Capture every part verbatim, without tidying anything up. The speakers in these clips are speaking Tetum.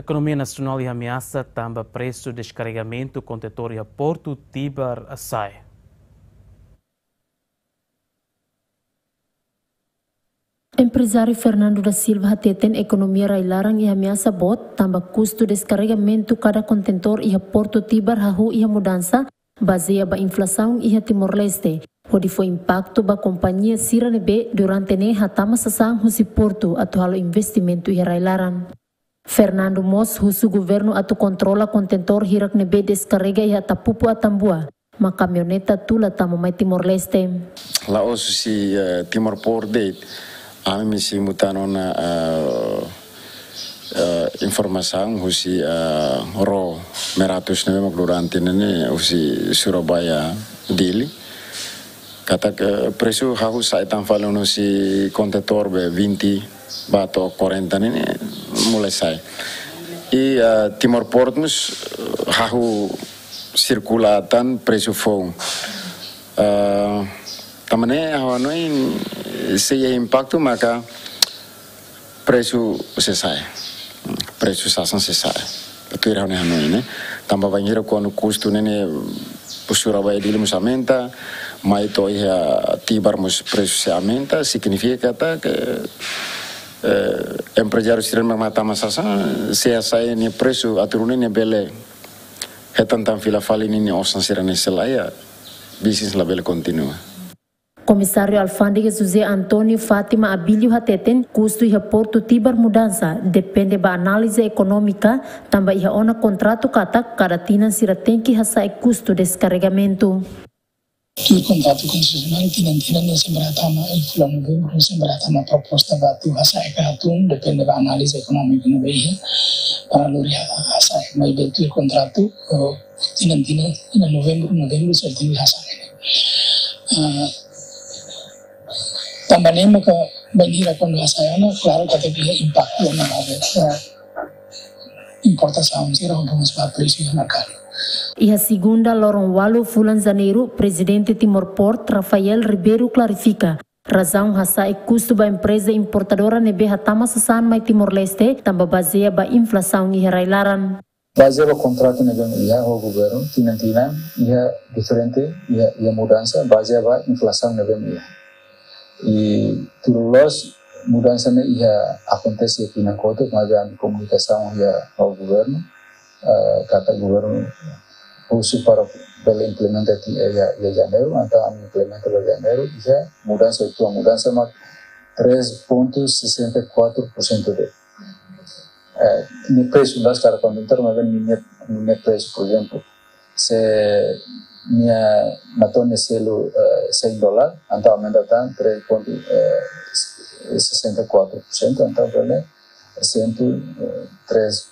Ekonomia nasionál iha ameasa tanba presu deskarregamentu kontentór iha Portu Tibar sa'e. Emprezáriu Fernando da Silva hateten ekonomia rai-laran iha ameasa boot tanba kustu deskarregamentu kada kontentór iha Portu Tibar hahú iha mudansa, bazeia ba inflasaun iha Timor-Leste, hodi fó impaktu ba kompañia sira ne'ebé durante ne'e hatama sasán husi portu atu halo investimentu iha rai-laran. Fernando mós husu governu atu kontrola kontentór hirak ne'ebé deskarrega iha Tapupu Atambua, mak kamioneta tula tama mai Timor-Leste. La'ós husi, eh, Timor Port de'it, ami sei muta ona, eh, eh, informasaun husi, eh, ró Meratus ne'ebé mak durante ne'e ne'e husi Surabaya Dili. Katak, eh, presu hahú sa'e tan fali ona husi kontentór be vinte ba to'o quarenta ne'e ne'e mulai sa'e. I, eh, Timor Port mós, eh, hahú sirkula tan presu foun. Eh, tanba ne'e ha'u hanoin sei iha impaktu maka presu sei sa'e. Presu sasán sei sa'e. Tuir ha'u-nia hanoin ne'e. Tanba bainhira kuandu kustu ne'e ne'e Surabaya Dili mós aumenta, mai to'o iha Tibar mós presu sei aumenta, signifika katak, eh, emprezáriu sira mak hatama sasán sei hasa'e nia presu atu nune'e nia bele hetan tan fila fali ninia osan sira-ne'e, se lae, bisnis labele kontinua. Komisáriu Alfándega José António Fátima Abílio hateten, kustu iha Portu Tibar mudansa depende ba análize ekonómika, tanba iha ona kontratu katak kada tinan sira tenke hasa'e kustu deskarregamentu. Tuir kontratu konsesionál, tinan-tinan ne'e sempre hatama, iha fulan Novembru ne'e sempre hatama proposta ba atu hasa'e ka hatún, depende ba análize ekonómika ne'ebé iha, para lori ha-, hasa'e. Maibé tuir kontratu, eh, tinan-tinan, iha Novembru, Novembru, sempre tenke hasa'e. Ah, tanba ne'e maka bainhira kuandu hasa'e ona, klaru katak iha impaktu ona ba, eh, importasaun sira, hodi mós ba presu iha merkadu. Iha segunda loron ualu fulan Janeiru, Prezidente Timor Port, Rafael Ribeiro, klarifika razaun hasa'e kustu ba empreza importadora ne'ebé hatama sasán mai Timor-Leste, tanba bazeia ba inflasaun iha rai-laran. Bazeia ba kontratu ne'ebé iha ho governu, tinan-tinan iha diferente, iha, iha mudansa, bazeia ba inflasaun ne'ebé iha. I tuir loloos mudansa ne'e iha akontese tinan kotuk, maibé ami komunikasaun iha ho governu, eh, katak governu husu para bele implementa ti-, eh, iha, iha Janeiru, entaun ami implementa ba Janeiru, iha mudansa, tuir mudansa mak três ponto sessenta e quatro por cento de, eh, nia presu, la'ós kada kontentór, maibé nia, nia presu, por ezemplu, se nia matones selu, eh, cem dólar, entaun aumenta tan três ponto, eh, sessenta e quatro por cento, entaun bele cento e três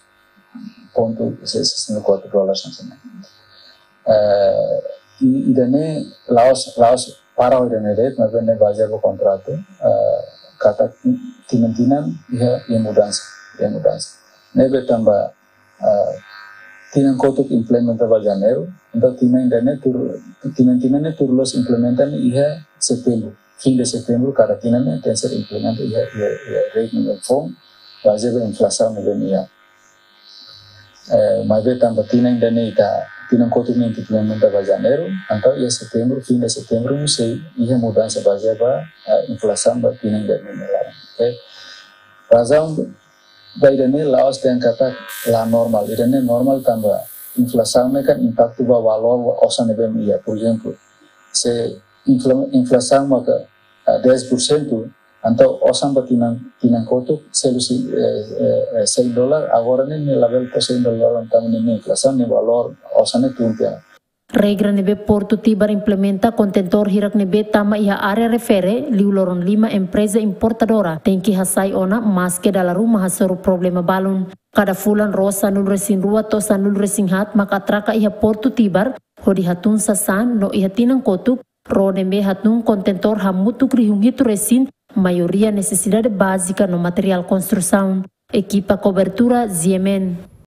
ponto sessenta e quatro dólares, mais ou menos. Eh, i, ida-ne'e la'ós, la'ós para ida-ne'e de'it, maibé ne'e bazeia ba kontratu, eh, katak tinan-tinan iha, iha mudansa, iha mudansa. Ne'ebé tanba, eh, tinan kotuk implementa ba Janeiru, entaun tinan ida-ne'e tuir, tinan-tinan ne'e tuir loloos implementa ne'e iha Setembru, fim de Setembru, kada tinan ne'e tenke ser implementa iha, iha, iha rekening foun, bazeia ba inflasaun ne'ebé iha. Eh, maibé tanba tinan ida-ne'e ita, tinan kotuk ne'e implementa ba Janeiru, entaun iha Setembru, fim de Setembru, sei iha mudansa bazeia ba, eh, inflasaun ba tinan ida-ne'e nia laran. Oke. Razaun ba ida-ne'e la'ós dehan katak la normál, ida-ne'e normál tanba inflasaun ne'e kan impaktu ba valór osan ne'ebé iha. Por ezemplu, se infla-, inflasaun maka, ah, dez por cento, entaun osan ba tinan, tinan kotuk, selu husi, eh, eh, eh, cem dólar, agora ne'e, ne'e labele to'o cem dólar, entaun ne'e, ne'e inflasaun, ne'e valór osan ne'e tun tiha ona. Regra ne'ebé Portu Tibar implementa, kontentór hirak ne'ebé tama iha área refere, liu loron lima empreza importadora tenke hasai ona, maske dala ruma hasoru problema balun. Kada fulan ró sanulu-resin-rua to'o sanulu-resin-haat mak atraka iha Portu Tibar, hodi hatun sasán no iha tinan kotuk, ró ne'ebé hatun kontentór hamutuk rihun hitu resin, maioria nesesidade bázika no materiál konstrusaun. Ekipa kobertura, G M N.